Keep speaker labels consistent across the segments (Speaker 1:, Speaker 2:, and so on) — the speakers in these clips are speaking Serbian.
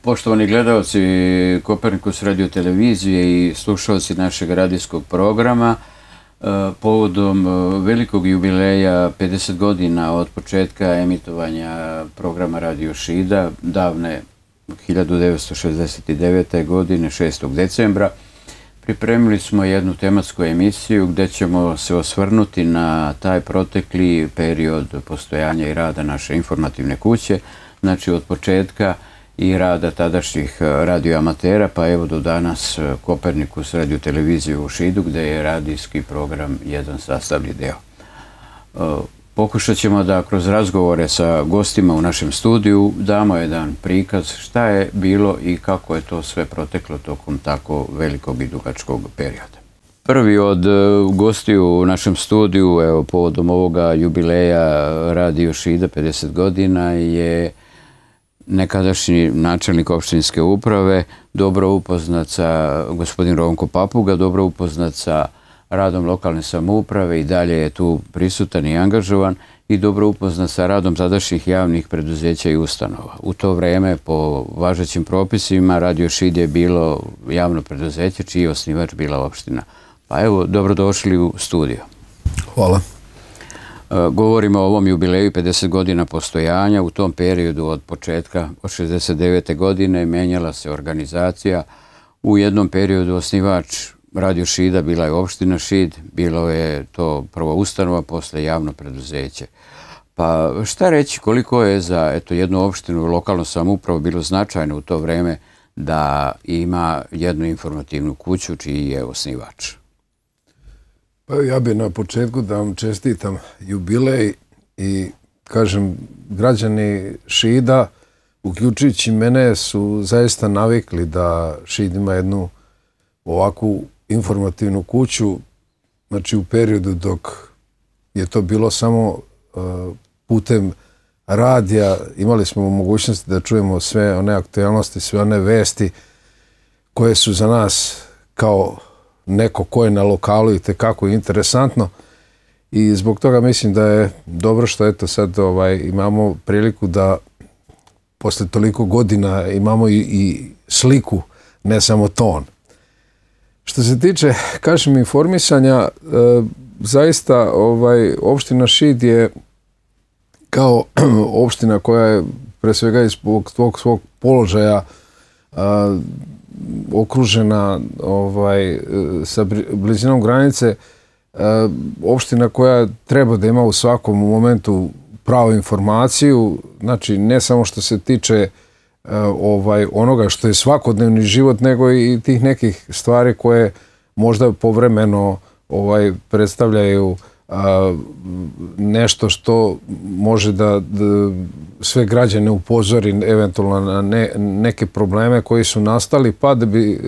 Speaker 1: Poštovani gledalci Kopernikus radio televizije i slušalci našeg radijskog programa, povodom velikog jubileja 50 godina od početka emitovanja programa Radio Šida, davne 1969. godine, 6. decembra, pripremili smo jednu tematsku emisiju gdje ćemo se osvrnuti na taj protekli period postojanja i rada naše informativne kuće, znači od početka i rada tadašnjih radioamatera, pa evo do danas Kopernikus radio televizije u Šidu, gdje je radijski program jedan sastavni deo. Pokušat ćemo da kroz razgovore sa gostima u našem studiju damo jedan prikaz šta je bilo i kako je to sve proteklo tokom tako velikog i dugačkog perioda. Prvi od gostiju u našem studiju, evo, povodom ovoga jubileja Radio Šida 50 godina, je nekadašnji načelnik opštinske uprave, dobro upoznat sa gospodin Ronko Papuga, dobro upoznat sa radom lokalne samouprave i dalje je tu prisutan i angažovan i dobro upoznat sa radom tadašnjih javnih preduzeća i ustanova. U to vreme, po važećim propisima, Radio Šid je bilo javno preduzeće čiji je osnivač bila opština. Pa evo, dobrodošli u studio.
Speaker 2: Hvala.
Speaker 1: Govorimo o ovom jubileju 50 godina postojanja. U tom periodu od početka, od 69. godine, menjala se organizacija. U jednom periodu osnivač Radio Šida bila je opština Šid, bilo je to prvo ustanova, posle javno preduzeće. Pa šta reći, koliko je za jednu opštinu lokalnu samoupravu bilo značajno u to vreme da ima jednu informativnu kuću čiji je osnivač?
Speaker 2: Pa ja bih na početku da vam čestitam jubilej i kažem, građani Šida, uključujući mene, su zaista navikli da Šid ima jednu ovakvu informativnu kuću, znači u periodu dok je to bilo samo putem radija, imali smo mogućnosti da čujemo sve one aktualnosti, sve one vesti koje su za nas kao neko ko je na lokalu i tekako interesantno i zbog toga mislim da je dobro što eto sad imamo priliku da posle toliko godina imamo i sliku, ne samo ton. Što se tiče, kažem, informisanja, zaista opština Šid je kao opština koja je pre svega iz svog položaja okružena sa blizinom granice, opština koja treba da ima u svakom momentu pravu informaciju, znači ne samo što se tiče onoga što je svakodnevni život, nego i tih nekih stvari koje možda povremeno predstavljaju nešto što može da sve građane upozori eventualno na neke probleme koji su nastali, pa da bi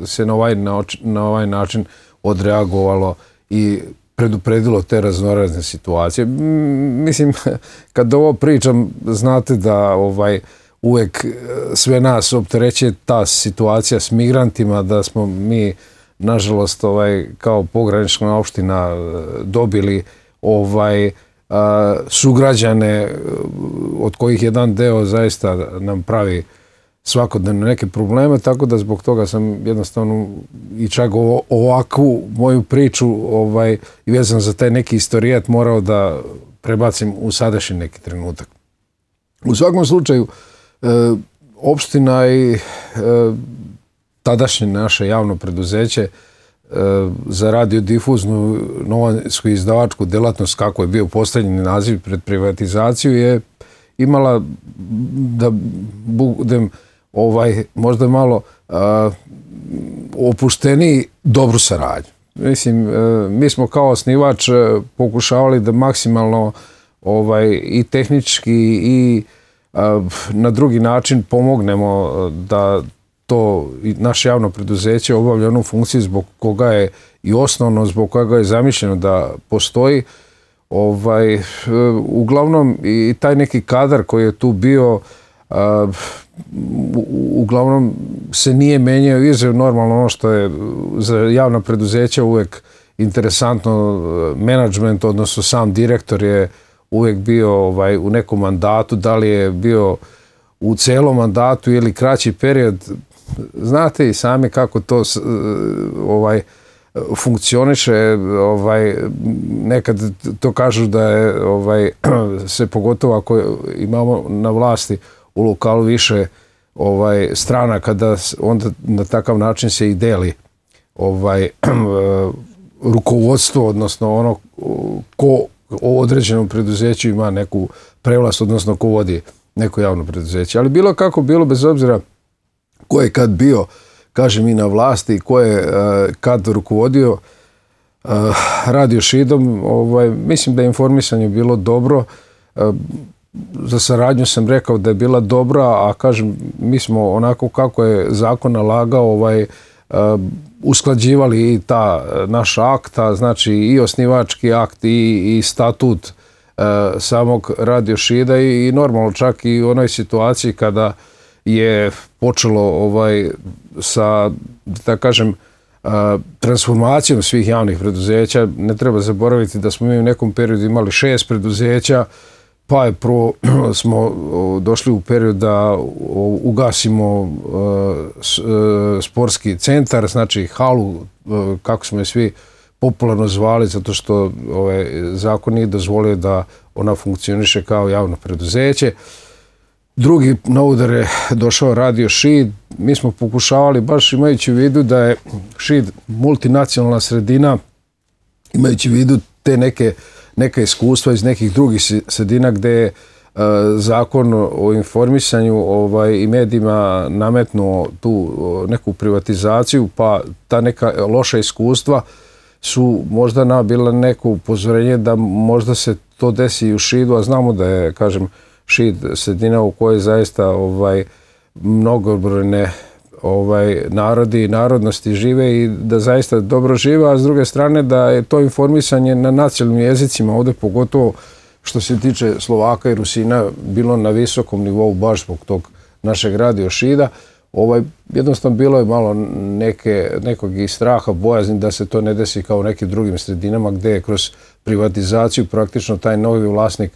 Speaker 2: se na ovaj način odreagovalo i predupredilo te raznorazne situacije. Mislim, kad ovo pričam, znate da uvek sve nas opterećuje ta situacija s migrantima, da smo mi, nažalost, kao pogranična opština dobili sugrađane od kojih jedan deo zaista nam pravi svakodnevno neke probleme, tako da zbog toga sam jednostavno i čak ovakvu moju priču i vezan za taj neki istorijat morao da prebacim u sadašnji neki trenutak. U svakom slučaju, opština i tadašnje naše javno preduzeće za radiodifuznu novinsku izdavačku delatnost, kako je bio postavljeni naziv pred privatizaciju, je imala, da budem možda malo opušteniji, dobru saradnju. Mislim, mi smo kao osnivač pokušavali da maksimalno i tehnički i na drugi način pomognemo da to naše javno preduzeće obavlja onu funkciju zbog koga je i osnovno, zbog koga je zamišljeno da postoji. Uglavnom i taj neki kadar koji je tu bio, uglavnom se nije menjao, izuzev normalno ono što je za javna preduzeća uvek interesantno, menadžment, odnosno sam direktor je uvek bio u nekom mandatu, da li je bio u celom mandatu ili kraći period. Znate i sami kako to funkcioniše, nekad to kažu da je se pogotovo ako imamo na vlasti u lokalu više strana, kada onda na takav način se i deli rukovodstvo, odnosno ono ko o određenom preduzeću ima neku prevlast, odnosno ko vodi neko javno preduzeće. Ali bilo kako bilo, bez obzira ko je kad bio, kažem, i na vlasti, ko je kad rukovodio Radio Šidom, mislim da je informisanje bilo dobro. Za saradnju sam rekao da je bila dobra, a kažem, mi smo onako kako je zakon nalagao usklađivali i ta naša akta, znači i osnivački akt i statut samog Radio Šida i normalno čak i u onoj situaciji kada je počelo sa, da kažem, transformacijom svih javnih preduzeća. Ne treba zaboraviti da smo mi u nekom periodu imali 6 preduzeća, pa je prvo smo došli u period da ugasimo sportski centar, znači halu, kako smo je svi popularno zvali, zato što zakon nije dozvolio da ona funkcioniše kao javno preduzeće. Drugi na udar je došao Radio Šid. Mi smo pokušavali, baš imajući u vidu da je Šid multinacionalna sredina, imajući u vidu te neka iskustva iz nekih drugih sredina gde je zakon o informisanju i medijima nametnuo tu neku privatizaciju, pa ta neka loša iskustva su možda bila neko upozorenje da možda se to desi i u Šidu, a znamo da je, kažem, Šid sredina u kojoj zaista mnogobrojne narodi i narodnosti žive i da zaista dobro žive, a s druge strane da je to informisanje na nacionalnim jezicima, ovdje pogotovo što se tiče Slovaka i Rusina, bilo na visokom nivou baš zbog tog našeg Radio Šida. Jednostavno bilo je malo nekog i straha, bojazni da se to ne desi kao u nekim drugim sredinama gdje je kroz privatizaciju praktično taj novi vlasnik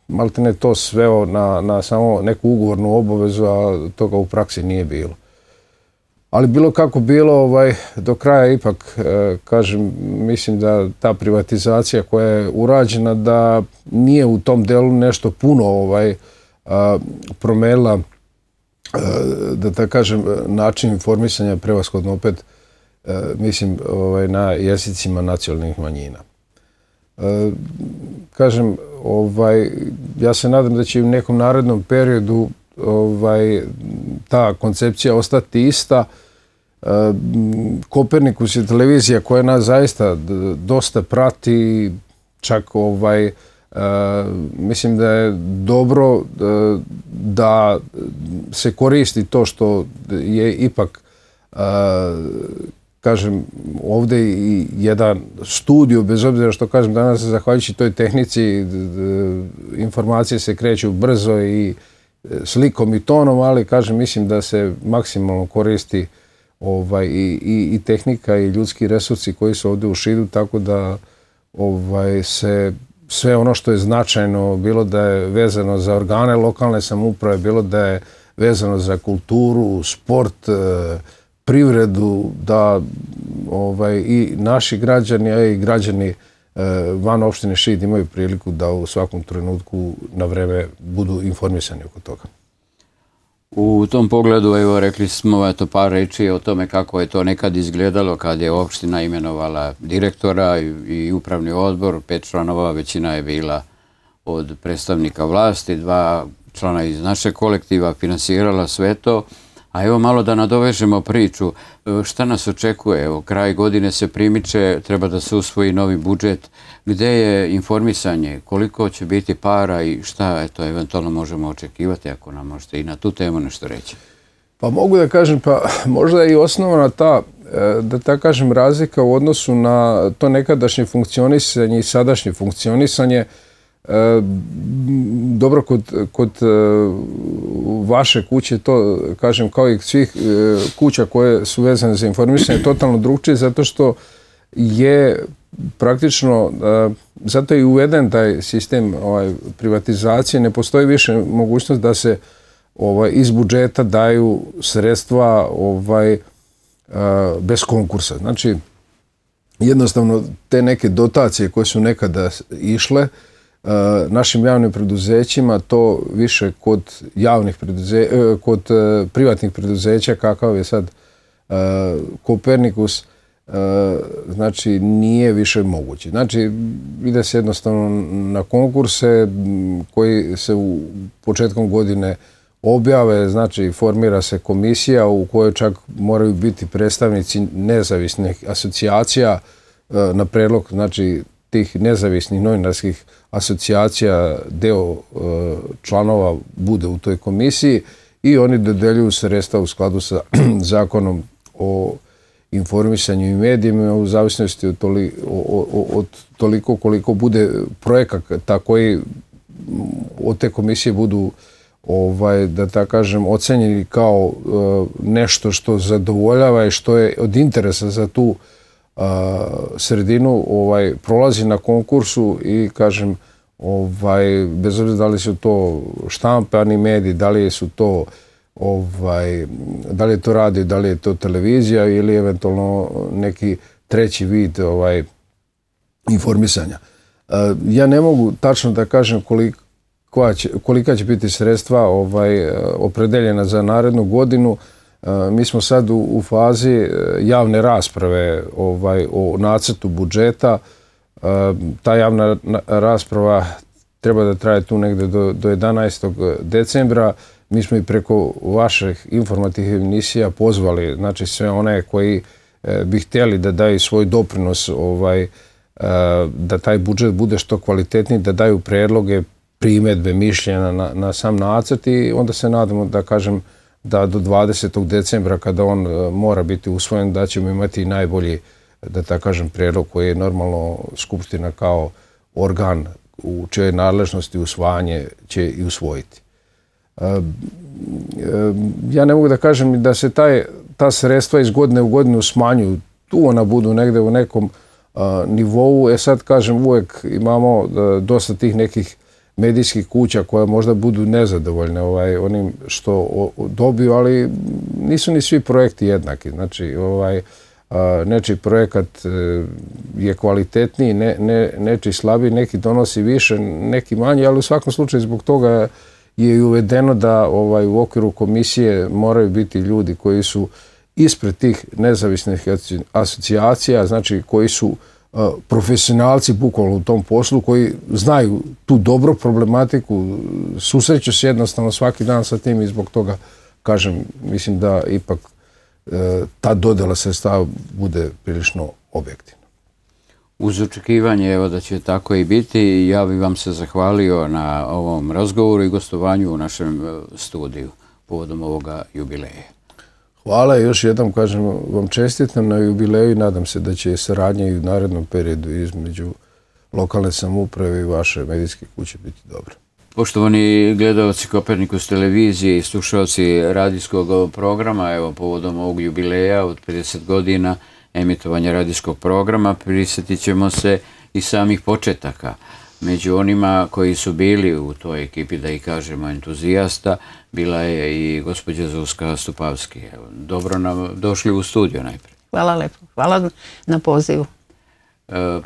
Speaker 2: maltene to sveo na samo neku ugovornu obavezu, a toga u praksi nije bilo. Ali bilo kako bilo, do kraja ipak, kažem, mislim da ta privatizacija koja je urađena da nije u tom delu nešto puno promenila, da kažem, način informisanja, prevashodno opet, mislim, na jezicima nacionalnih manjina. Kažem, ja se nadam da će u nekom narednom periodu ta koncepcija ostati ista. Kopernikus je televizija koja nas zaista dosta prati, čak mislim da je dobro da se koristi to što je ipak, kažem, ovdje i jedan studio, bez obzira što kažem danas, zahvaljujući toj tehnici, informacije se kreću brzo i slikom i tonom, ali kažem, mislim da se maksimalno koristi i tehnika i ljudski resursi koji su ovdje u Šidu, tako da se sve ono što je značajno, bilo da je vezano za organe lokalne samouprave, bilo da je vezano za kulturu, sport, privredu, da i naši građani, a i građani van opštine Šid imaju priliku da u svakom trenutku na vreme budu informisani oko toga.
Speaker 1: U tom pogledu, evo, rekli smo par reči o tome kako je to nekad izgledalo kad je opština imenovala direktora i upravni odbor, 5 članova, većina je bila od predstavnika vlasti, 2 člana iz našeg kolektiva finansirala sve to. A evo malo da nadovežemo priču, šta nas očekuje, evo kraj godine se primiče, treba da se usvoji novi budžet, gde je informisanje, koliko će biti para i šta eventualno možemo očekivati, ako nam možete i na tu temu nešto reći.
Speaker 2: Pa mogu da kažem, pa možda je i osnovna ta, da kažem, razlika u odnosu na to nekadašnje funkcionisanje i sadašnje funkcionisanje. Dobro, kod vaše kuće, to kažem kao i svih kuća koje su vezane za informisanje, totalno drugčije, zato što je praktično, zato je i uveden taj sistem privatizacije, ne postoji više mogućnost da se iz budžeta daju sredstva bez konkursa. Znači, jednostavno te neke dotacije koje su nekada išle našim javnim preduzećima, to više kod privatnih preduzeća, kakav je sad Kopernikus, znači nije više moguće. Znači, ide se jednostavno na konkurse koji se u početkom godine objave, znači formira se komisija u kojoj čak moraju biti predstavnici nezavisnih asocijacija na predlog, znači tih nezavisnih novinarskih asocijacija, deo članova bude u toj komisiji i oni dodeljuju sredstva u skladu sa zakonom o informisanju i medijima u zavisnosti od toliko koliko bude projekata koji od te komisije budu da tako kažem ocenjeni kao nešto što zadovoljava i što je od interesa za tu sredinu, prolazi na konkursu i kažem bez obzira da li su to štampani mediji, da li su to da li je to radio, da li je to televizija ili eventualno neki treći vid informisanja. Ja ne mogu tačno da kažem kolika će biti sredstva opredeljena za narednu godinu. Mi smo sad u fazi javne rasprave o nacrtu budžeta. Ta javna rasprava treba da traje tu negde do 11. decembra. Mi smo i preko vaših informativnih emisija pozvali, znači sve one koji bi htjeli da daju svoj doprinos, da taj budžet bude što kvalitetniji, da daju predloge, primedbe, mišljenja na sam nacrt i onda se nadamo da kažem da do 20. decembra kada on mora biti usvojen da ćemo imati najbolji, da tako kažem, predlog koji je normalno Skupština kao organ u čijoj nadležnosti usvajanje će i usvojiti. Ja ne mogu da kažem da se ta sredstva iz godine u godinu smanjuju. Tu ona budu negde u nekom nivou. Sad kažem, uvek imamo dosta tih nekih medijskih kuća koje možda budu nezadovoljne onim što dobiju, ali nisu ni svi projekti jednaki. Znači, nečiji projekat je kvalitetniji, nečiji slabiji, neki donosi više, neki manje, ali u svakom slučaju zbog toga je i uvedeno da u okviru komisije moraju biti ljudi koji su ispred tih nezavisnih asocijacija, znači koji su profesionalci bukvalno u tom poslu, koji znaju tu dobro problematiku, susreću se jednostavno svaki dan sa tim i zbog toga, kažem, mislim da ipak ta dodjela sredstava bude prilično objektivna.
Speaker 1: Uz očekivanje evo da će tako i biti, ja bih vam se zahvalio na ovom razgovoru i gostovanju u našem studiju povodom ovoga jubileja.
Speaker 2: Hvala i još jednom kažem vam čestitam na jubileju i nadam se da će saradnja i u narednom periodu između lokalne samouprave i vaše medijske kuće biti dobra.
Speaker 1: Poštovani gledalci Kopernikus televizije i slušalci radijskog programa, evo povodom ovog jubileja od 50 godina emitovanja radijskog programa, prisjetit ćemo se i samih početaka. Među onima koji su bili u toj ekipi, da i kažemo entuzijasta, bila je i gospođa Zuzka Stupavski. Dobro nam došli u studio najprije.
Speaker 3: Hvala lepo. Hvala na pozivu.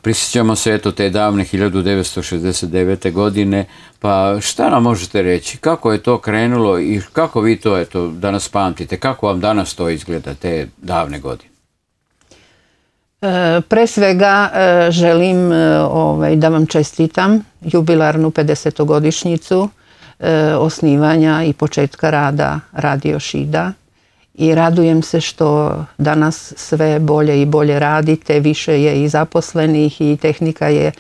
Speaker 1: Prisjećamo se eto te davne 1969. godine, pa šta nam možete reći? Kako je to krenulo i kako vi to eto danas pamtite? Kako vam danas to izgleda, te davne godine?
Speaker 3: Pre svega želim da vam čestitam jubilarnu 50-godišnjicu osnivanja i početka rada Radio Šida i radujem se što danas sve bolje i bolje radite, više je i zaposlenih i tehnika je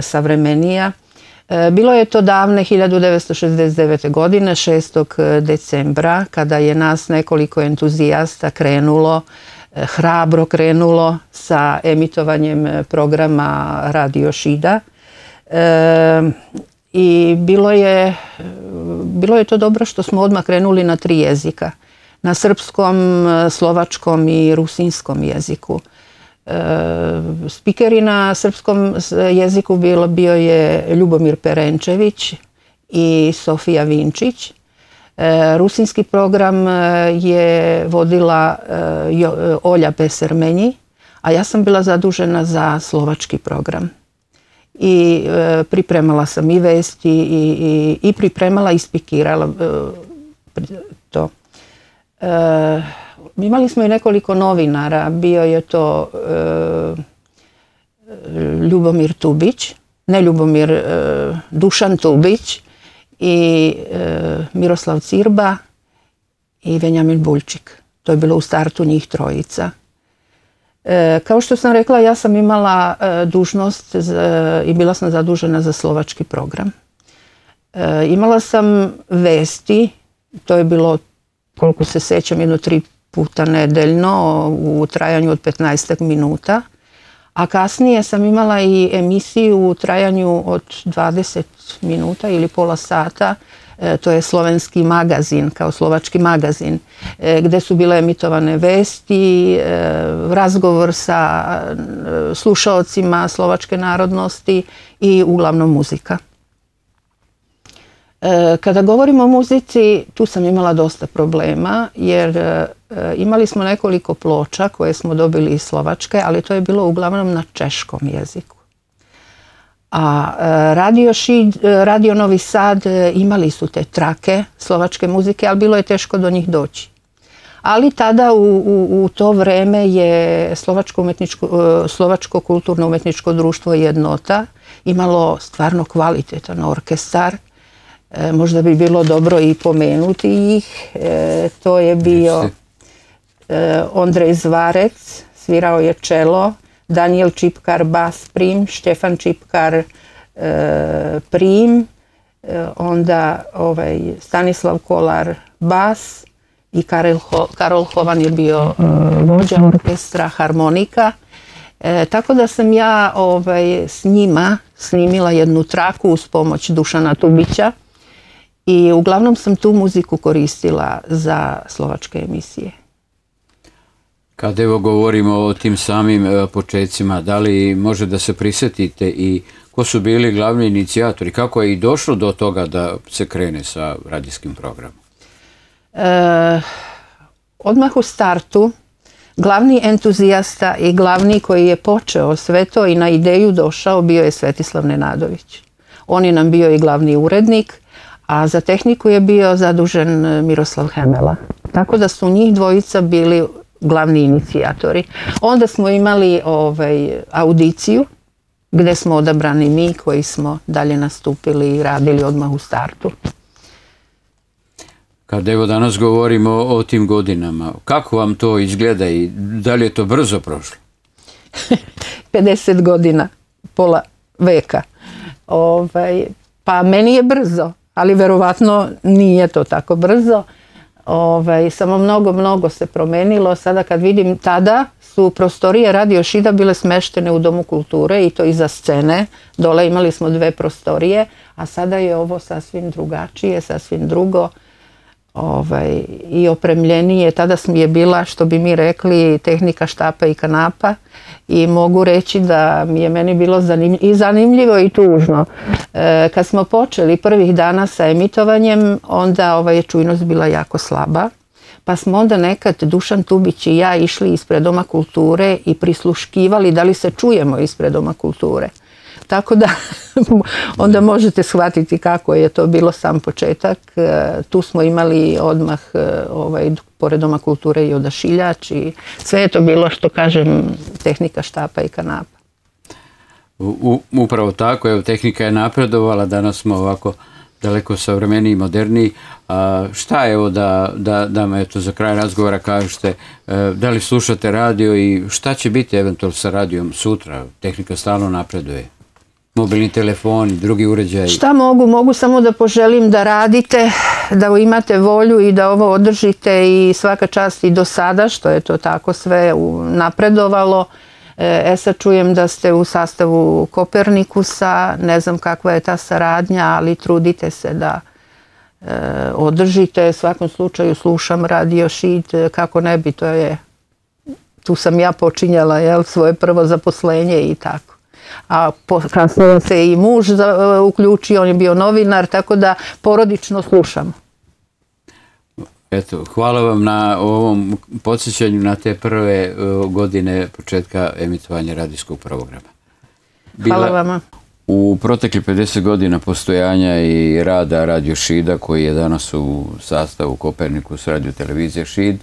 Speaker 3: savremenija. Bilo je to davne 1969. godine, 6. decembra, kada je nas nekoliko entuzijasta hrabro krenulo sa emitovanjem programa Radio Šida. I bilo je to dobro što smo odmah krenuli na 3 jezika. Na srpskom, slovačkom i rusinskom jeziku. Spikeri na srpskom jeziku bio je Ljubomir Perenčević i Sofija Vinčić. Rusinski program je vodila Olja Pesermenji, a ja sam bila zadužena za slovački program. I pripremala sam i vesti i pripremala i spikirala to. Imali smo i nekoliko novinara, bio je to Ljubomir Tubić, ne Ljubomir, Dušan Tubić i Miroslav Cirba i Venjamin Buljčik. To je bilo u startu njih trojica. Kao što sam rekla, ja sam imala dužnost i bila sam zadužena za slovački program. Imala sam vesti, to je bilo, koliko se sećam, 3 puta nedeljno u trajanju od 15 minuta, a kasnije sam imala i emisiju u trajanju od 20 minuta ili pola sata, to je slovenski magazin, kao slovački magazin, gde su bile emitovane vesti, razgovor sa slušaocima slovačke narodnosti i uglavnom muzika. Kada govorimo o muzici, tu sam imala dosta problema, jer imali smo nekoliko ploča koje smo dobili iz Slovačke, ali to je bilo uglavnom na češkom jeziku. A Radio Novi Sad imali su te trake slovačke muzike, ali bilo je teško do njih doći. Ali tada u to vreme je Slovačko kulturno umetničko društvo Jednota imalo stvarno kvalitetan orkestar. Možda bi bilo dobro i pomenuti ih. To je bio Ondrej Zvarec, svirao je čelo, Daniel Čipkar bas prim, Štefan Čipkar prim, onda Stanislav Kolar bas i Karol Hovan je bio vođa orkestra, harmonika. Tako da sam ja s njima snimila jednu traku uz pomoć Dušana Tubića i uglavnom sam tu muziku koristila za slovačke emisije.
Speaker 1: Kad evo govorimo o tim samim počecima, da li može da se prisjetite i ko su bili glavni inicijatori? Kako je i došlo do toga da se krene sa radijskim programom?
Speaker 3: Odmah u startu glavni entuzijasta i glavni koji je počeo sve to i na ideju došao bio je Svetislav Nenadović. On je nam bio i glavni urednik, a za tehniku je bio zadužen Miroslav Hemela. Tako da su njih dvojica bili glavni inicijatori. Onda smo imali audiciju gdje smo odabrani mi koji smo dalje nastupili i radili odmah u startu.
Speaker 1: Kad evo danas govorimo o tim godinama, kako vam to izgleda i da li je to brzo prošlo?
Speaker 3: 50 godina, pola veka. Pa meni je brzo, ali verovatno nije to tako brzo. Samo mnogo se promenilo. Sada kad vidim, tada su prostorije Radio Šida bile smeštene u Domu kulture i to iza scene. Dole imali smo 2 prostorije, a sada je ovo sasvim drugačije, sasvim drugo i opremljenije. Tada je bila, što bi mi rekli, tehnika štapa i kanapa i mogu reći da mi je meni bilo i zanimljivo i tužno. Kad smo počeli prvih dana sa emitovanjem, onda je čujnost bila jako slaba, pa smo onda nekad Dušan Tubić i ja išli ispred Doma kulture i prisluškivali da li se čujemo ispred Doma kulture. Tako da onda možete shvatiti kako je to bilo sam početak. Tu smo imali odmah pored Doma kulture i odašiljač i sve je to bilo, što kažem, tehnika štapa i kanapa.
Speaker 1: Upravo tako, evo, tehnika je napredovala, danas smo ovako daleko savremeniji i moderniji. Šta evo da me za kraj razgovora kažete, da li slušate radio i šta će biti eventualno sa radijom sutra? Tehnika stalno napreduje. Mobilni telefoni, drugi uređaji.
Speaker 3: Šta mogu samo da poželim da radite, da imate volju i da ovo održite i svaka čast i do sada, što je to tako sve napredovalo. Sad čujem da ste u sastavu Kopernikusa, ne znam kakva je ta saradnja, ali trudite se da održite. U svakom slučaju slušam Radio Šid, kako ne bi, to je tu sam ja počinjala svoje prvo zaposlenje i tako. A kasnije se i muž uključio, on je bio novinar, tako da porodično slušam.
Speaker 1: Eto, hvala vam na ovom podsjećanju na te prve godine početka emitovanja radijskog programa.
Speaker 3: Hvala vama.
Speaker 1: U protekli 50 godina postojanja i rada Radio Šida, koji je danas u sastavu Kopernikus radio televizije Šid,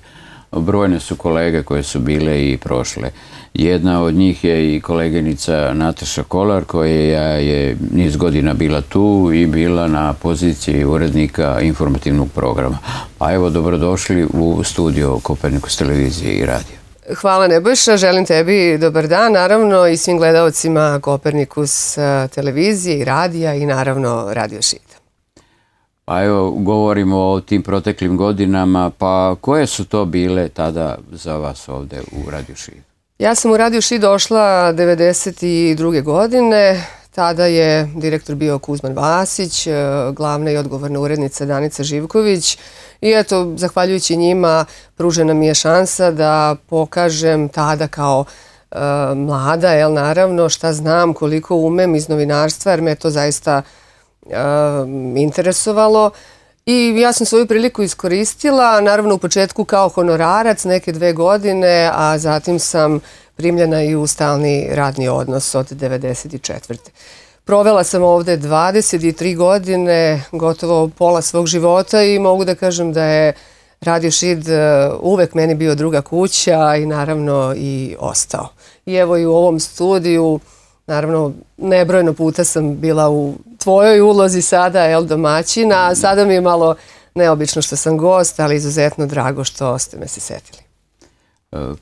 Speaker 1: brojne su kolege koje su bile i prošle. Jedna od njih je i koleginica Nataša Kolar, koja je niz godina bila tu i bila na poziciji urednika informativnog programa. A evo, dobrodošli u studio Kopernikus televizije i radija.
Speaker 4: Hvala Nebojša, želim tebi dobar dan, naravno i svim gledalcima Kopernikus televizije i radija i naravno Radio Šid.
Speaker 1: Pa evo, govorimo o tim proteklim godinama, pa koje su to bile tada za vas ovde u Radio Šid?
Speaker 4: Ja sam u Radio Šid došla 1992. godine, tada je direktor bio Kuzman Vasić, glavna i odgovorna urednica Danica Živković i eto, zahvaljujući njima pružena mi je šansa da pokažem tada kao mlada, naravno, šta znam, koliko umem iz novinarstva, jer me to zaista interesovalo i ja sam svoju priliku iskoristila, naravno u početku kao honorarac neke 2 godine, a zatim sam primljena i u stalni radni odnos od 1994. Provela sam ovde 23 godine, gotovo pola svog života i mogu da kažem da je Radio Šid uvek meni bio druga kuća i naravno i ostao. I evo i u ovom studiju, naravno, nebrojeno puta sam bila u tvojoj ulozi sada, domaćina, a sada mi je malo neobično što sam gost, ali izuzetno drago što ste me se setili.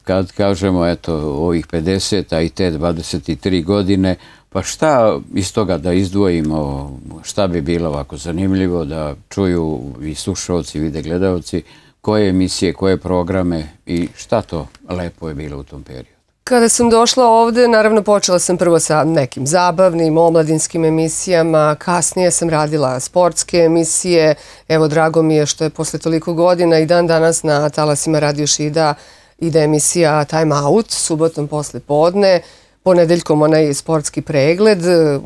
Speaker 1: Kad kažemo, eto, ovih 50, a i te 23 godine, pa šta iz toga da izdvojimo, šta bi bilo ovako zanimljivo da čuju i slušalci, vide gledalci, koje emisije, koje programe i šta to lepo je bilo u tom periodu?
Speaker 4: Kada sam došla ovde, naravno počela sam prvo sa nekim zabavnim, omladinskim emisijama, kasnije sam radila sportske emisije, evo drago mi je što je posle toliko godina i dan danas na talasima Radio Šida ide emisija Time Out, subotom posle podne, ponedeljkom onaj sportski pregled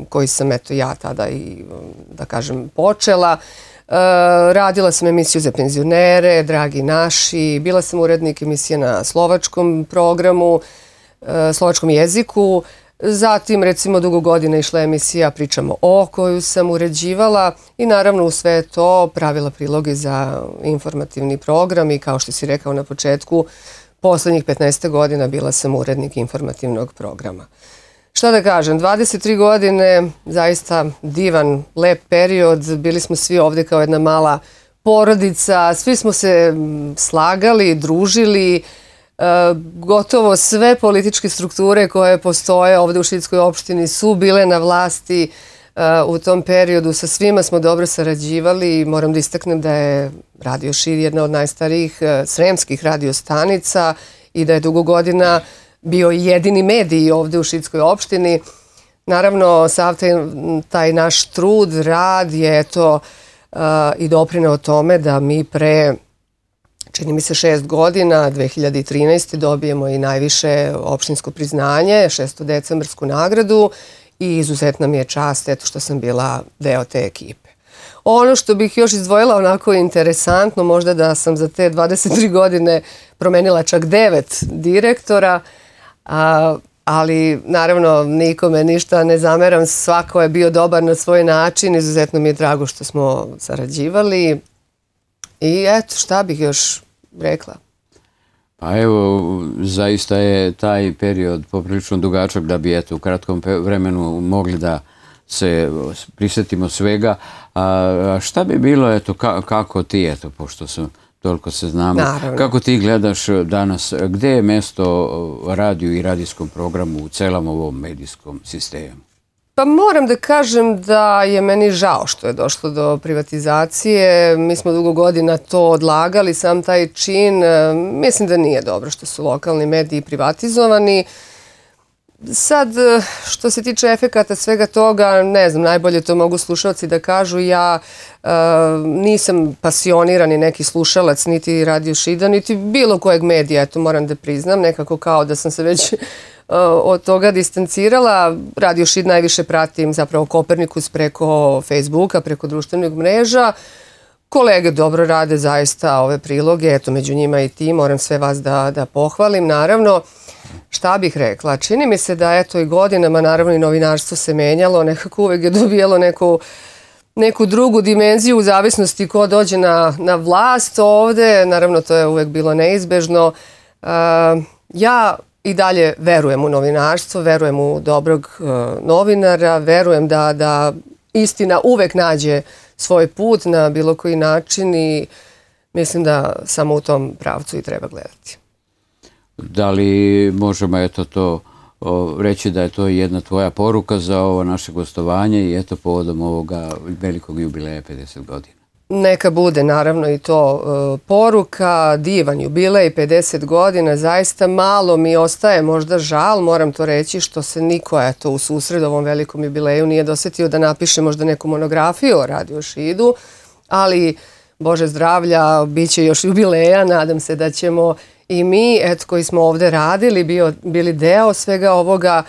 Speaker 4: koji sam eto ja tada i da kažem počela. Radila sam emisiju za penzionere, Dragi naši, bila sam urednik emisije na slovačkom programu, slovačkom jeziku. Zatim, recimo, dugo godina išla emisija Pričamo o, koju sam uređivala i naravno u sve to pravila priloge za informativni program i kao što si rekao na početku, poslednjih 15 godina bila sam urednik informativnog programa. Šta da kažem, 23 godine, zaista divan, lep period, bili smo svi ovde kao jedna mala porodica, svi smo se slagali, družili, gotovo sve političke strukture koje postoje ovde u Šidskoj opštini su bile na vlasti u tom periodu. Sa svima smo dobro sarađivali i moram da istaknem da je Radio Šid jedna od najstarijih sremskih radiostanica i da je dugo godina bio jedini medij ovde u Šidskoj opštini. Naravno, sav taj naš trud, rad je eto i doprineo tome da mi pre, čini mi se 6 godina, 2013. dobijemo i najviše opštinsko priznanje, 6. decembarsku nagradu i izuzetna mi je čast eto što sam bila deo te ekipe. Ono što bih još izdvojila onako interesantno, možda da sam za te 23 godine promenila čak 9 direktora, ali naravno nikome ništa ne zameram, svako je bio dobar na svoj način, izuzetno mi je drago što smo sarađivali i eto šta bih još rekla.
Speaker 1: Pa evo, zaista je taj period poprilično dugačak da bi eto u kratkom vremenu mogli da se prisetimo svega. A šta bi bilo, eto, kako ti, eto, pošto toliko se znamo, kako ti gledaš danas, gde je mesto radiju i radijskom programu u celom ovom medijskom sistemu?
Speaker 4: Pa moram da kažem da je meni žao što je došlo do privatizacije. Mi smo dugo godina to odlagali, sam taj čin. Mislim da nije dobro što su lokalni mediji privatizovani. sad, što se tiče efekata svega toga, ne znam, najbolje to mogu slušalci da kažu. Ja nisam pasionirani neki slušalac, niti Radio Šida, niti bilo kojeg medija, to moram da priznam, nekako kao da sam se već od toga distancirala. Radio Šid najviše pratim zapravo Kopernikus preko Facebooka, preko društvenih mreža. Kolege dobro rade zaista ove priloge, eto među njima i ti, moram sve vas da pohvalim, naravno. Šta bih rekla? Čini mi se da eto i godinama, naravno i novinarstvo se menjalo, nekako uvek je dobijalo neku drugu dimenziju u zavisnosti ko dođe na vlast ovde, naravno to je uvek bilo neizbežno. Ja i dalje verujem u novinarstvo, verujem u dobrog novinara, verujem da istina uvek nađe svoj put na bilo koji način i mislim da samo u tom pravcu i treba gledati.
Speaker 1: Da li možemo eto to reći da je to jedna tvoja poruka za ovo naše gostovanje i eto povodom ovoga velikog jubileja 50 godina?
Speaker 4: Neka bude naravno i to poruka, divan jubilej, 50 godina, zaista malo mi ostaje možda žal, moram to reći, što se niko eto u susred ovom velikom jubileju nije dosetio da napiše možda neku monografiju o Radio Šidu, ali Bože zdravlja, bit će još jubileja, nadam se da ćemo i mi, eto koji smo ovde radili, bili deo svega ovoga,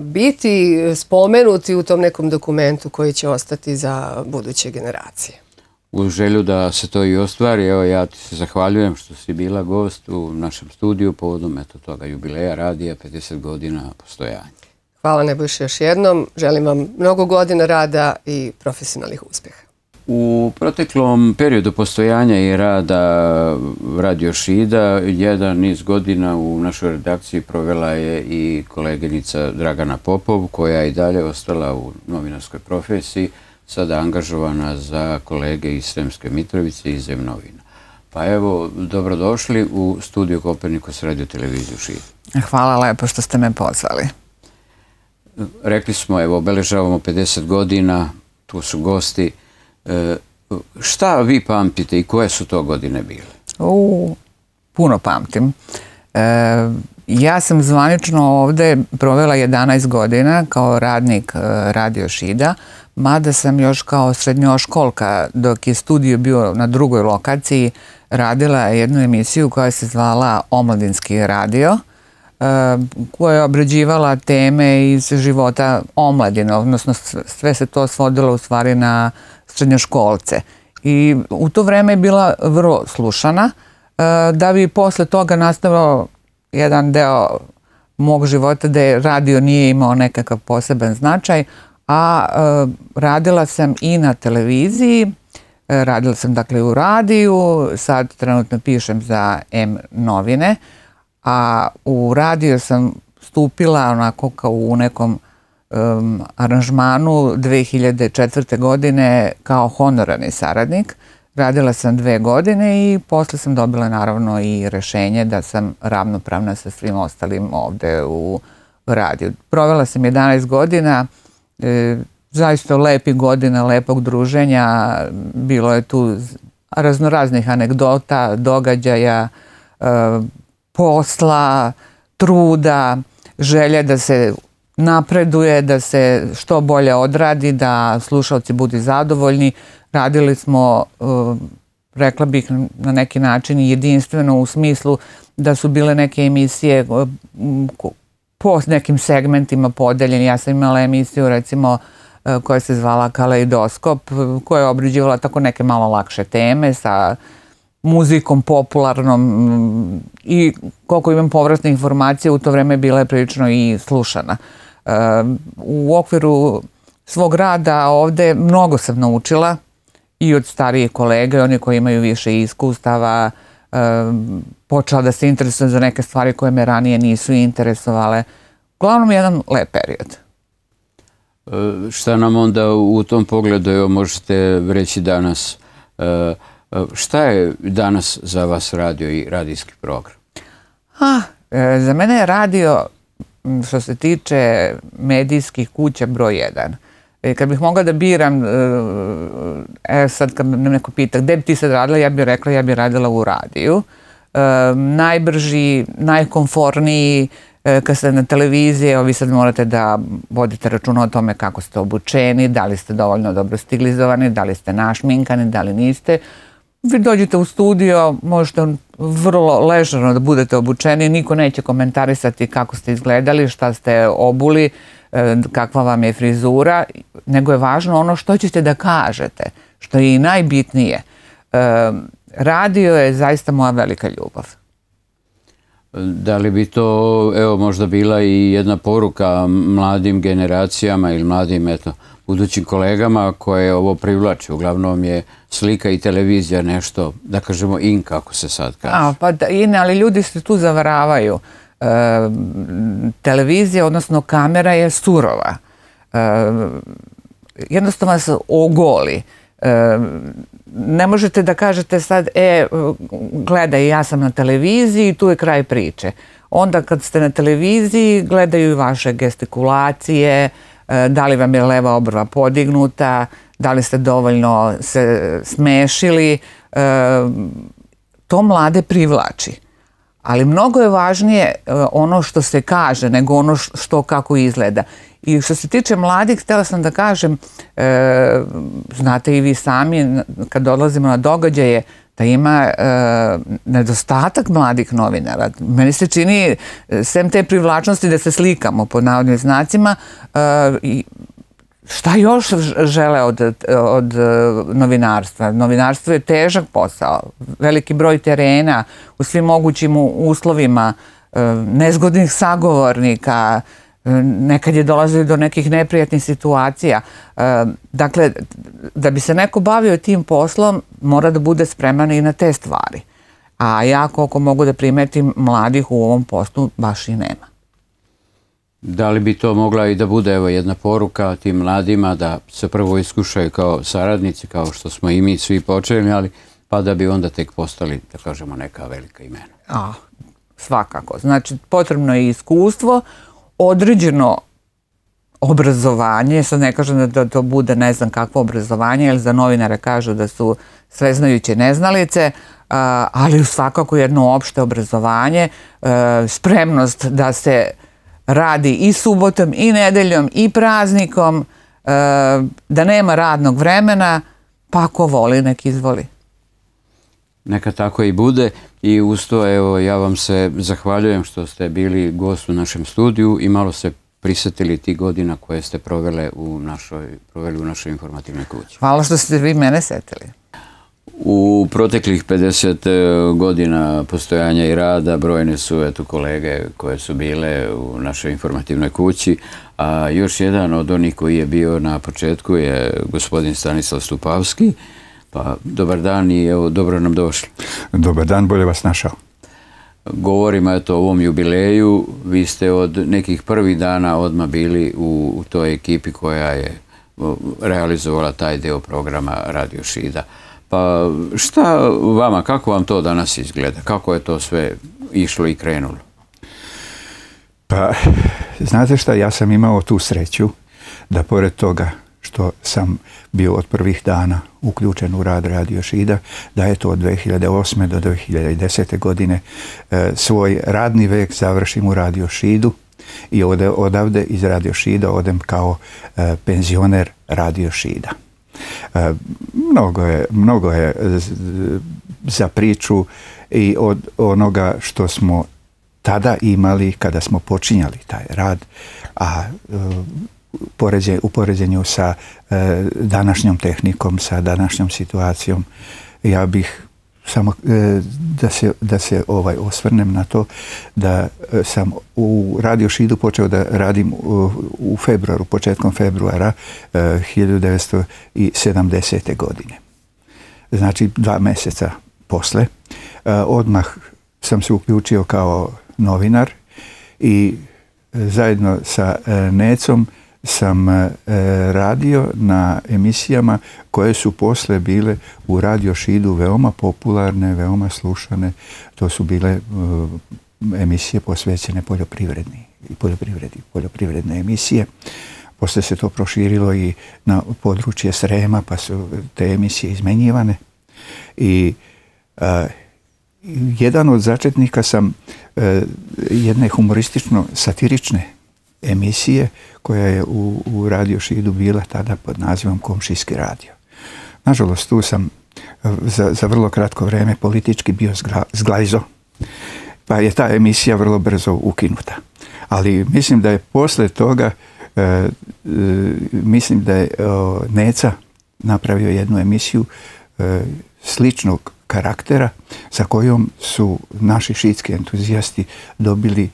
Speaker 4: biti spomenuti u tom nekom dokumentu koji će ostati za buduće generacije.
Speaker 1: U želju da se to i ostvari, evo ja ti se zahvaljujem što si bila gost u našem studiju povodom eto toga jubileja radija 50 godina postojanja.
Speaker 4: Hvala Nebojša još jednom, želim vam mnogo godina rada i profesionalnih uspjeha.
Speaker 1: U proteklom periodu postojanja i rada Radio Šida jedan niz godina u našoj redakciji provela je i koleginica Dragana Popov, koja je i dalje ostala u novinarskoj profesiji, sada angažovana za kolege iz Sremske Mitrovice i Zem novina. Pa evo, dobrodošli u studiju Kopernikus Radio televiziju Šid.
Speaker 5: Hvala lepo što ste me pozvali.
Speaker 1: Rekli smo, evo, obeležavamo 50 godina, tu su gosti. Šta vi pamtite i koje su to godine bile?
Speaker 5: Puno pamtim. Ja sam zvanično ovde provela 11 godina kao radnik Radio Šida, mada sam još kao srednjoškolka, dok je studio bio na drugoj lokaciji, radila jednu emisiju koja se zvala Omladinski radio, koja je obrađivala teme iz života omladine, odnosno sve se to svodilo u stvari na srednjoškolce. I u to vreme je bila vrlo slušana, da bi posle toga nastavio jedan deo mog života da radio nije imao nekakav poseban značaj, a radila sam i na televiziji, radila sam dakle u radiju, sad trenutno pišem za M novine, a u radio sam stupila onako kao u nekom aranžmanu 2004. godine kao honorarni saradnik. Radila sam 2 godine i posle sam dobila naravno i rešenje da sam ravnopravna sa svim ostalim ovde u radiju. Provela sam 11 godina, zaista lepih godina, lepog druženja, bilo je tu raznoraznih anegdota, događaja, posla, truda, želje da se napreduje, da se što bolje odradi, da slušalci budu zadovoljni. Radili smo, rekla bih na neki način jedinstveno u smislu da su bile neke emisije po nekim segmentima podeljeni. Ja sam imala emisiju recimo koja se zvala Kaleidoskop, koja je obrađivala tako neke malo lakše teme sa muzikom popularnom i koliko imam povratne informacije u to vreme bila je prilično i slušana. U okviru svog rada ovde mnogo sam naučila i od starijih kolega i oni koji imaju više iskustava, počela da se interesujem za neke stvari koje me ranije nisu interesovale. Uglavnom jedan lep period.
Speaker 1: Šta nam onda u tom pogledu evo, možete reći danas? Šta je danas za vas radio i radijski program?
Speaker 5: Za mene je radio, što se tiče medijskih kuća, broj 1. Kad bih mogla da biram, sad kad me neko pita gde bi ti sad radila, ja bih rekla ja bih radila u radiju. Najbrži, najkomforniji, kad ste na televiziji, vi sad morate da vodite računa o tome kako ste obučeni, da li ste dovoljno dobro stilizovani, da li ste našminkani, da li niste. Vi dođete u studio, možete vrlo ležerno da budete obučeni, niko neće komentarisati kako ste izgledali, šta ste obuli, kakva vam je frizura, nego je važno ono što ćete da kažete, što je i najbitnije. Radio je zaista moja velika ljubav.
Speaker 1: Da li bi to, evo, možda bila i jedna poruka mladim generacijama ili mladim, eto, budućim kolegama koje ovo privlači? Uglavnom je slika i televizija nešto, da kažemo, in, kako se sad kaže.
Speaker 5: Pa in, ali ljudi se tu zavaravaju. Televizija, odnosno kamera je surova. Jednostavno se ogoli. Ne možete da kažete sad, gledaj, ja sam na televiziji, tu je kraj priče. Onda kad ste na televiziji, gledaju i vaše gestikulacije, da li vam je leva obrva podignuta, da li ste dovoljno se smešili. To mlade privlači. Ali mnogo je važnije ono što se kaže nego ono što kako izgleda. I što se tiče mladih, htjela sam da kažem, znate i vi sami, kad dolazimo na događaje, da ima nedostatak mladih novinara. Meni se čini, sem te privlačnosti da se slikamo pod navodnim znacima, šta još žele od novinarstva? Novinarstvo je težak posao, veliki broj terena u svim mogućim uslovima, nezgodnih sagovornika, nekad je dolazilo do nekih neprijatnih situacija. Dakle, da bi se neko bavio tim poslom, mora da bude spreman i na te stvari. A ja, koliko mogu da primetim, mladih u ovom poslu baš i nema.
Speaker 1: Da li bi to mogla i da bude, evo, jedna poruka tim mladima da se prvo iskušaju kao saradnici, kao što smo i mi svi počeli, ali pa da bi onda tek postali, da kažemo, neka velika imena?
Speaker 5: Svakako. Znači, potrebno je iskustvo, određeno obrazovanje, sad ne kažem da to bude ne znam kakvo obrazovanje, jer za novinare kažu da su sveznajuće neznalice, ali svakako jedno opšte obrazovanje, spremnost da se radi i subotom, i nedeljom, i praznikom, da nema radnog vremena, pa ako voli, nek izvoli.
Speaker 1: Neka tako i bude i uz to, evo, ja vam se zahvaljujem što ste bili gost u našem studiju i malo se prisjetili tih godina koje ste proveli u našoj informativnoj kući.
Speaker 5: Hvala što ste vi mene setili.
Speaker 1: U proteklih 50 godina postojanja i rada brojne su, eto, kolege koje su bile u našoj informativnoj kući, a još jedan od onih koji je bio na početku je gospodin Stanislav Stupavski. Pa, dobar dan i evo, dobro nam došli.
Speaker 6: Dobar dan, bolje vas našao.
Speaker 1: Govorimo, eto, o ovom jubileju. Vi ste od nekih prvih dana odmah bili u toj ekipi koja je realizovala taj deo programa Radio Šida. Pa šta vama, kako vam to danas izgleda? Kako je to sve išlo i krenulo?
Speaker 6: Pa, znate šta, ja sam imao tu sreću da pored toga što sam bio od prvih dana uključen u rad Radio Šida, da je to od 2008. do 2010. godine svoj radni vek završim u Radio Šidu i odavde iz Radio Šida odem kao penzioner Radio Šida. Mnogo je za priču i od onoga što smo tada imali kada smo počinjali taj rad, a u poređenju sa današnjom tehnikom, sa današnjom situacijom, ja bih samo da se osvrnem na to da sam u Radio Šidu počeo da radim u februaru, početkom februara 1970. godine. Znači 2 mjeseca posle. Odmah sam se uključio kao novinar i zajedno sa Necom sam radio na emisijama koje su posle bile u Radio Šidu veoma popularne, veoma slušane. To su bile emisije posvećene poljoprivredne emisije. Posle se to proširilo i na područje Srema, pa su te emisije izmenjivane. jedan od začetnika sam jedne humoristično-satirične emisije koja je u Radio Šidu bila tada pod nazivom Komšijski radio. Nažalost, tu sam za vrlo kratko vreme politički bio zglajzo, pa je ta emisija vrlo brzo ukinuta. Ali mislim da je posle toga, mislim da je Neca napravio jednu emisiju sličnog karaktera za kojom su naši šidski entuzijasti dobili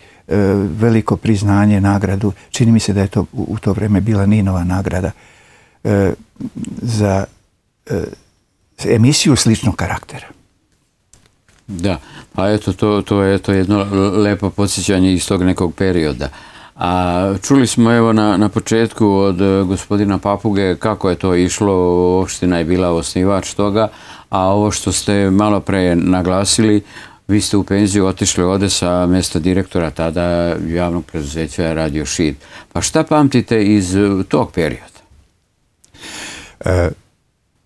Speaker 6: veliko priznanje, nagradu. Čini mi se da je to u to vreme bila Ninova nagrada za emisiju sličnog karaktera.
Speaker 1: Da, a eto, to je jedno lepo podsjećanje iz tog nekog perioda. A čuli smo evo na početku od gospodina Papuge kako je to išlo, opština je bila osnivač toga, a ovo što ste malo pre naglasili, vi ste u penziju otišli ovde sa mjesta direktora tada javnog preduzeća Radio Šid. Pa šta pamtite iz tog perioda?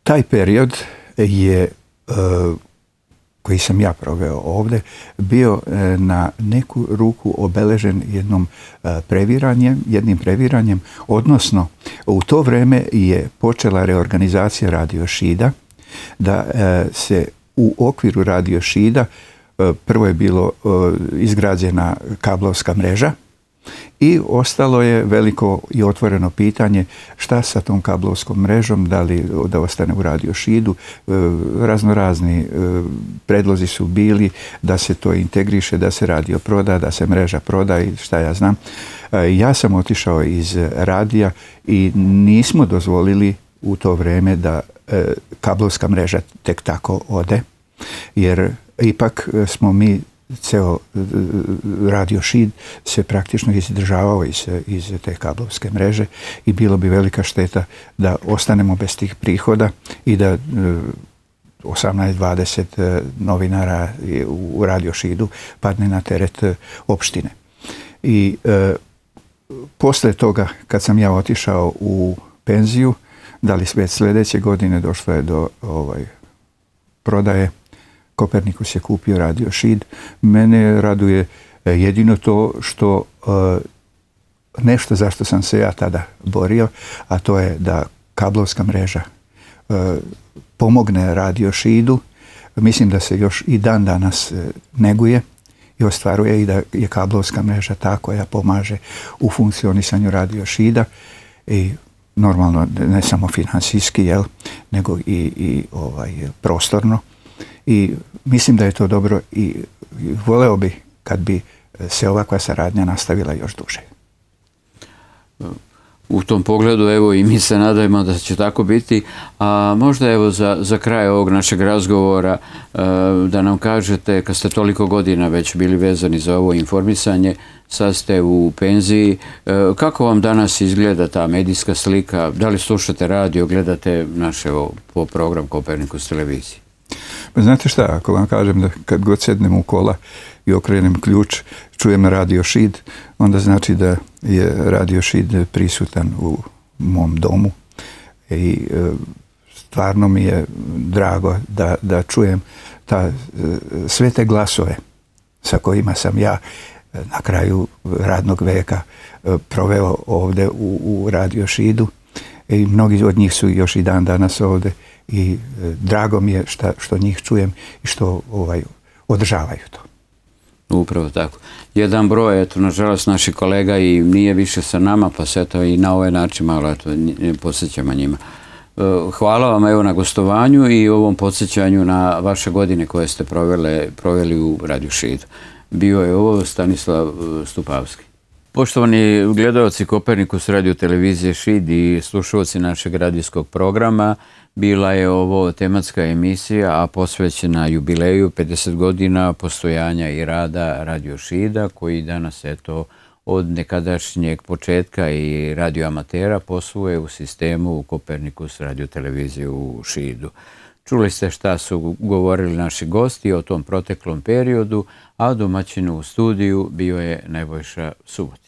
Speaker 6: Taj period je, koji sam ja proveo ovde, bio na neku ruku obeležen jednim previranjem, odnosno u to vreme je počela reorganizacija Radio Šida, da se u okviru Radio Šida prvo je bilo izgrađena kablovska mreža i ostalo je veliko i otvoreno pitanje šta sa tom kablovskom mrežom, da li da ostane u Radio Šidu. Raznorazni predlozi su bili da se to integriše, da se radio proda, da se mreža proda i šta ja znam. Ja sam otišao iz radija i nismo dozvolili u to vreme da kablovska mreža tek tako ode, jer ipak smo mi, ceo Radio Šid se praktično izdržavao iz te kablovske mreže i bilo bi velika šteta da ostanemo bez tih prihoda i da 18-20 novinara u Radio Šidu padne na teret opštine. I posle toga, kad sam ja otišao u penziju, da li već sljedeće godine došlo je do prodaje, Kopernikus je kupio Radio Šid. Mene raduje jedino to što nešto zašto sam se ja tada borio, a to je da kablovska mreža pomogne Radio Šidu. Mislim da se još i dan danas neguje i ostvaruje i da je kablovska mreža ta koja pomaže u funkcionisanju Radio Šida i normalno ne samo finansijski, nego i prostorno. I mislim da je to dobro i voleo bi kad bi se ovakva saradnja nastavila još duže.
Speaker 1: U tom pogledu, evo, i mi se nadajmo da će tako biti. A možda, evo, za kraj ovog našeg razgovora da nam kažete, kad ste toliko godina već bili vezani za ovo informisanje, sad ste u penziji, kako vam danas izgleda ta medijska slika? Da li slušate radio, gledate naš program Kopernikus televiziji?
Speaker 6: Pa znate šta, ako vam kažem da kad god sednem u kola i okrenem ključ, čujem Radio Šid, onda znači da je Radio Šid prisutan u mom domu i stvarno mi je drago da čujem sve te glasove sa kojima sam ja na kraju radnog veka proveo ovde u Radio Šidu i mnogi od njih su još i dan danas ovde i drago mi je što njih čujem i što održavaju to.
Speaker 1: Upravo tako. Jedan broj, eto, nažalost, naših kolega i nije više sa nama, pa se eto i na ovaj način malo podsjećamo njima. Hvala vam, evo, na gostovanju i ovom podsjećanju na vaše godine koje ste proveli u Radio Šidu. Bio je ovo Stanislav Stupavski. Poštovani gledalci Kopernikus radio televizije Šid i slušalci našeg radijskog programa, bila je ovo tematska emisija, a posvećena jubileju 50 godina postojanja i rada Radio Šida, koji danas, eto, od nekadašnjeg početka i radioamatera posluje u sistemu Kopernikus radio televizije u Šidu. Čuli ste šta su govorili naši gosti o tom proteklom periodu, a domaćin u studiju bio je Nebojša Subotić.